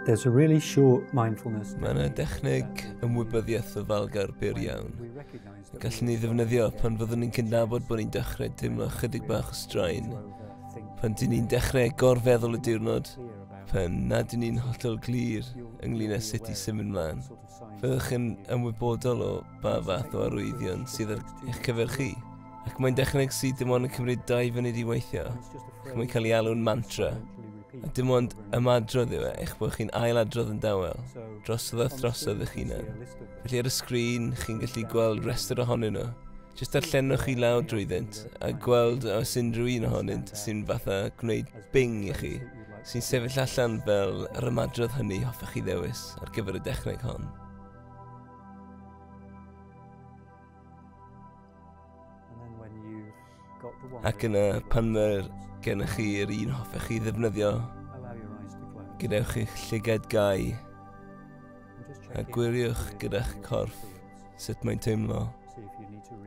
There's a really short mindfulness. Mae yna dechneg ymwybyddiaeth ofalgar byr iawn. Gallwn ni ddefnyddio pan fyddwn ni'n cydnabod bod ni'n dechrau teimlo chydig bach o straen. Pan dyn ni'n dechrau gorfeddwl y diwrnod, pan nad ydyn ni'n hollol glir ynglyn â sut i symud mlaen. Fyddwch yn ymwybodol o ba fath o arwyddion sydd ar eich cyfer chi. Ac mae'n dechneg sydd dim ond yn cymryd 2 funud i weithio. Ac mae'n cael ei alw'n mantra. A dim ond ymadrodd yw e, eich bod chi'n ailadrodd yn dawel, drosodd a throsodd eich hunan. Felly ar y sgrin, chi'n gallu gweld rhestr ohonyn nhw. Jyst darllenwch chi lawr drwyddynt a gweld os unrhyw un ohonynt sy'n fatha gwneud bing i chi, sy'n sefyll allan fel yr ymadrodd hynny hoffech chi ddewis ar gyfer y dechneg hon. Ac yna, pan mae gennych chi'r un hoffech chi ddefnyddio, gadewch eich llygad gau a gwiriwch gyda'ch corff sut mae'n teimlo.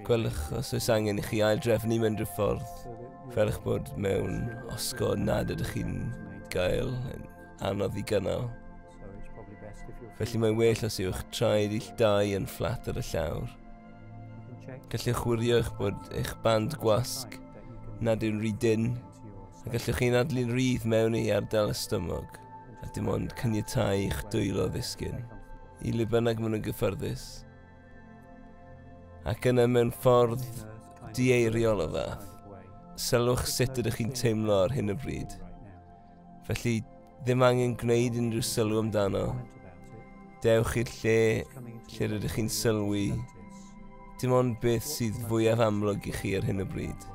Gwelwch os oes angen i chi aildrefnu mewn rhyw ffordd, fel eich bod mewn osgo nad ydych chi'n gael yn anodd i gynnal. Felly mae'n well os yw'ch traed ill dau yn fflat ar y llawr. Gallwch wirio eich bod eich band gwasg nad yw'n rhy dynn, a gallwch chi'n adlu'n rhydd mewn i ardal y stumog, a dim ond caniatáu i'ch dwylo ddisgyn, i le bynnag maen nhw'n gyffyrddus. Ac yna mewn ffordd dieiriol o fath, sylwch sut ydych chi'n teimlo ar hyn o bryd. Felly, ddim angen gwneud unrhyw sylw amdano. Dewch i'r lle lle rydych chi'n sylwi, dim ond beth sydd fwyaf amlwg i chi ar hyn o bryd.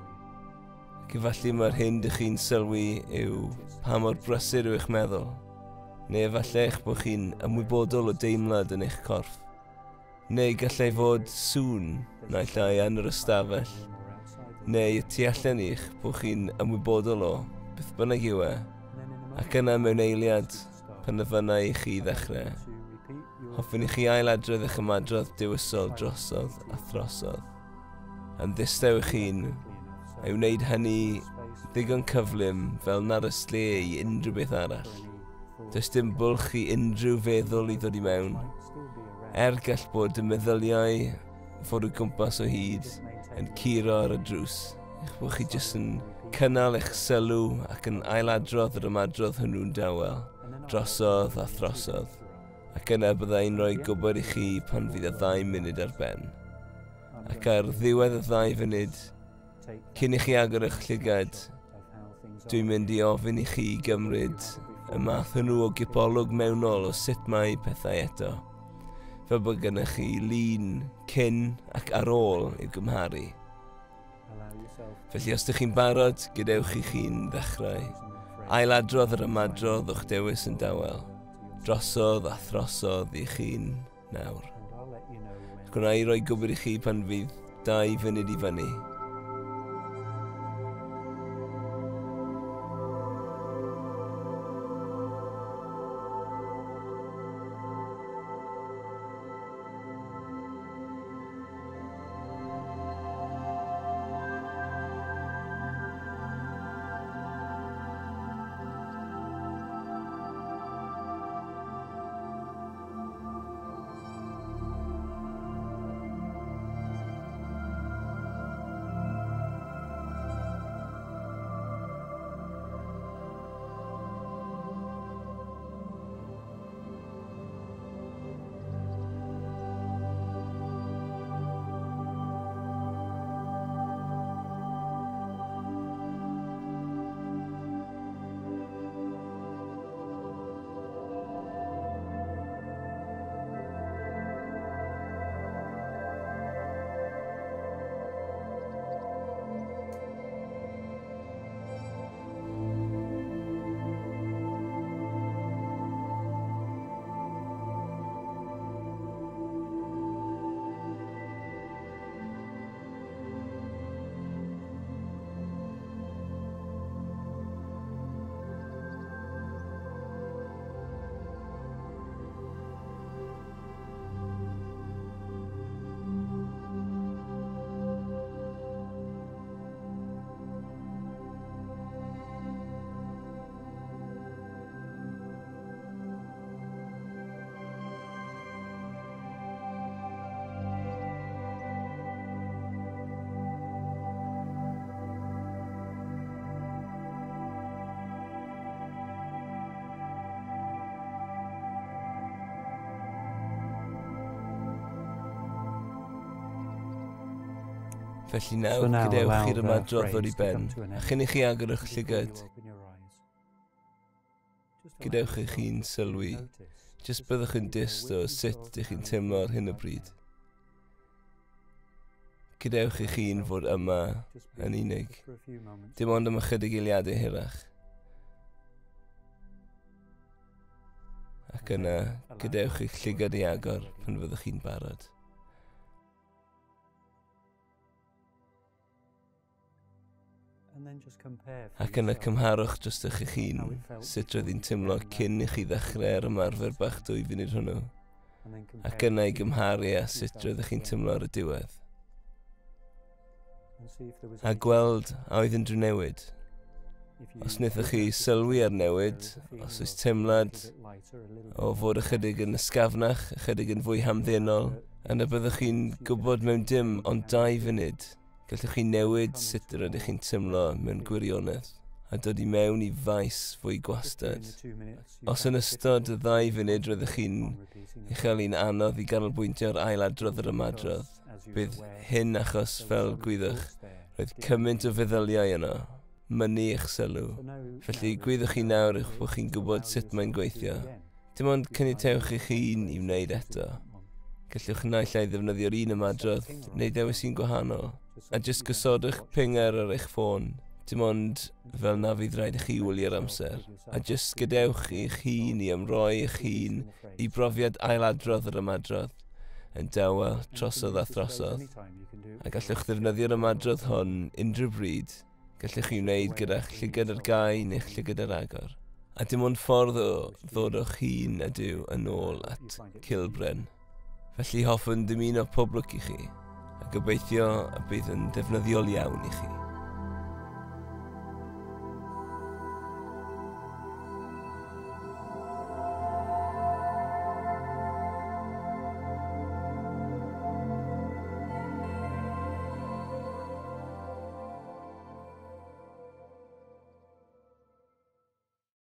Ac efallai mae'r hyn dych chi'n sylwi yw pa mor brysur yw eich meddwl, neu efallai eich bod chi'n ymwybodol o deimlad yn eich corff. Neu gallai fod sŵn naill ai yn yr ystafell, neu y tu allan i'ch bod chi'n ymwybodol o beth bynnag yw e, ac yna mewn eiliad pan ofynna i chi ddechrau. Hoffwn i chi ailadrodd eich ymadrodd dewisol drosodd a throsodd. Yn ddistaw eich hun, a'i wneud hynny ddigon cyflym fel nad oes lle i unrhyw beth arall. Does dim bwlch i unrhyw feddwl i ddod i mewn. Er gall bod y meddyliau fod o gwmpas o hyd yn curo ar y drws, eich bod chi jyst yn cynnal eich sylw ac yn ailadrodd yr ymadrodd hwnnw'n dawel, drosodd a throsodd. Ac yna byddai'n rhoi gwybod i chi pan fydd y 2 munud ar ben. Ac ar ddiwedd y 2 funud, cyn i chi agor eich llygad, dwi'n mynd i ofyn i chi gymryd y math hwnnw o gipolwg mewnol o sut mae pethau eto, fel bod gennych chi lun cyn ac ar ôl i'w gymharu. Felly os ydych chi'n barod, gadewch i chi'n ddechrau. Ailadrodd yr ymadrodd o'ch dewis yn dawel, drosodd a throsodd i chi'n nawr. Gwna i roi gwybod i chi pan fydd 2 funud i fyny. Felly nawr, gadewch i'r ymadrodd ddod i ben, a chyn i chi agor eich llygad, gadewch eich hun sylwi, jyst byddwch yn dyst o sut ydych chi'n teimlo ar hyn o bryd. Gadewch eich hun fod yma yn unig, dim ond am ychydig eiliadau hirach. Ac yna, gadewch eich llygad i agor pan fyddwch chi'n barod. Ac yna cymharwch dros eich hun sut roedd hi'n teimlo cyn i chi ddechrau ar ymarfer bach 2 funud hwnnw. Ac yna i gymharu â sut roeddech chi'n teimlo ar y diwedd. A gweld a oedd unrhyw newid. Os wnaethoch chi sylwi ar newid, os oes teimlad o fod ychydig yn ysgafnach, ychydig yn fwy hamddenol, yna byddwch chi'n gwybod mewn dim ond 2 funud. Gallwch chi newid sut rydych chi'n teimlo mewn gwirionedd a dod i mewn i faes fwy gwastad. Os yn ystod y 2 funud rydych chi'n ei chael hi'n anodd i ganolbwyntio ar ailadrodd yr ymadrodd, bydd hyn achos, fel gwyddwch, roedd cymaint o feddyliau yno, mynnu eich sylw. Felly gwyddwch chi nawr eich bod chi'n gwybod sut mae'n gweithio. Dim ond caniatewch eich hun i wneud eto. Gallwch naill ai ddefnyddio'r un ymadrodd neu ddewis un gwahanol. A jyst gosodwch pinger ar eich ffôn, dim ond fel na fydd rhaid i chi wylio'r amser. A jyst gadewch eich hun i ymroi eich hun i brofiad ailadrodd yr ymadrodd, yn dawel trosodd a throsodd. A gallwch ddefnyddio'r ymadrodd hwn unrhyw bryd, gallwch chi wneud gyda'ch llygad ar gau neu'ch llygad ar agor. A dim ond ffordd o ddod o'ch hun a Duw yn ôl at Cilbren. Felly hoffwn dymuno pob lwc i chi, a gobeithio y bydd yn ddefnyddiol iawn i chi.